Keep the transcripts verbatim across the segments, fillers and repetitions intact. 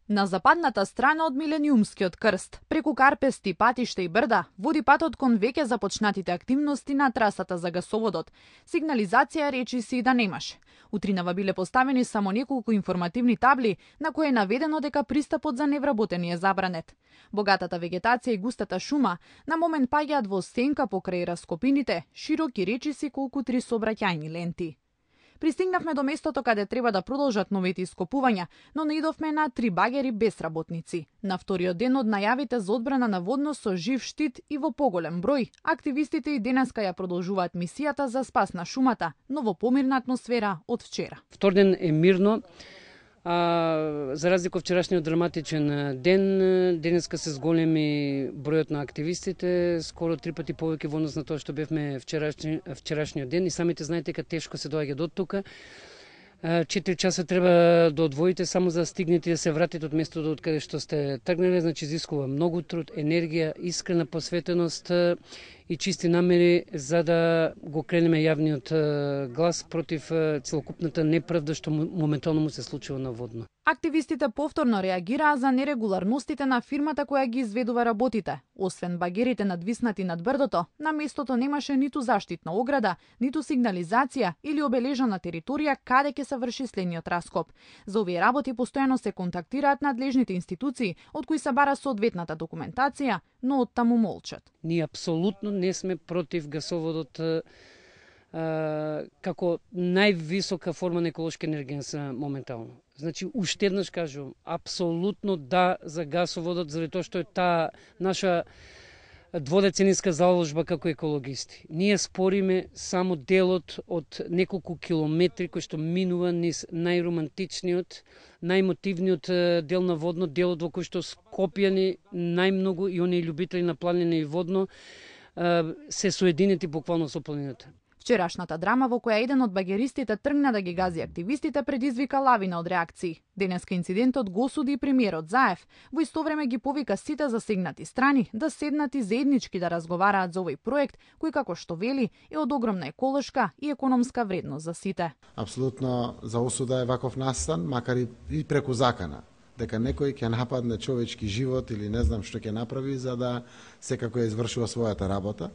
На западната страна од Милениумскиот крст, преку карпести патишта и брда, води патот кон веќе започнатите активности на трасата за гасоводот. Сигнализација речи си да немаш. Утринава биле поставени само неколку информативни табли на кои е наведено дека пристапот за невработени е забранет. Богатата вегетација и густата шума на момент паѓаат во сенка покрај раскопините, широки речиси колку три сообраќајни ленти. Пристигнавме до местото каде треба да продолжат новите ископувања, но наидовме на три багери без работници. На вториот ден од најавите за одбрана на водно со жив штит и во поголем број, активистите и денеска ја продолжуваат мисијата за спас на шумата, но во помирна атмосфера од вчера. Втор ден е мирно, а, за разлика од вчерашниот драматичен ден, денеска се зголеми бројот на активистите, скоро три пати повеќе во однос на тоа што бевме вчерашни, вчерашниот ден, и самите знаете дека тешко се доаѓа до тука. Четири часа треба да одвоите само за да стигнете да се вратите од местото од каде што сте тргнале, значи изискува многу труд, енергија, искрена посветеност и чисти намери за да го кренеме јавниот глас против целокупната неправда што моментално му се случува на водно. Активистите повторно реагираа за нерегуларностите на фирмата која ги изведува работите. Освен багерите надвиснати над брдото, на местото немаше ниту заштитна ограда, ниту сигнализација или обележана територија каде ќе се врши следниот раскоп. За овие работи постојано се контактираат надлежните институции, од кои се бара соодветната документација, но оттаму молчат. Ние апсолутно не сме против гасоводот а, како највисока форма на еколошка енергија моментално. Значи, уште еднаш кажувам, апсолутно да за гасоводот, заради тоа што е таа наша дводецениска заложба како екологисти. Ние спориме само делот од неколку километри кој што минува низ најромантичниот, најмотивниот дел на водно, делот во кој што Скопјани најмногу и оние љубители на планина и водно се соединети буквално со планината. Вчерашната драма во која еден од багеристите тргна да ги гази активистите предизвика лавина од реакции. Денеска инцидентот го осуди и премиерот Заев, во исто време ги повика сите засегнати страни да седнат и заеднички да разговараат за овој проект, кој како што вели е од огромна еколошка и економска вредност за сите. Апсолутно за осуда е ваков настан, макар и преку закана, дека некој ќе нападне човечки живот или не знам што ќе направи за да секако ја извршува својата работа.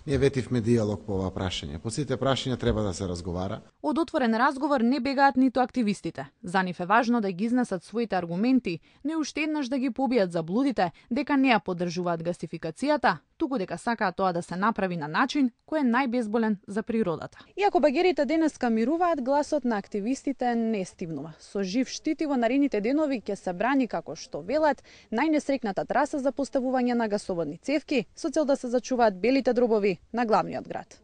Ние ветивме диалог по ова прашање. По сите прашања треба да се разговара. Од отворен разговор не бегаат ниту активистите. За нив е важно да ги изнесат своите аргументи, не уште еднаш да ги побијат заблудите дека не ја поддржуваат гасификацијата, туку дека сакаат тоа да се направи на начин кој е најбезболен за природата. Иако багерите денеска мируваат, гласот на активистите не стивнува. Со жив штит и во наредните денови ќе се брани, како што велат, најнесрекната траса за поставување на гасоводни цевки со цел да се зачуваат белите дробови на главниот град.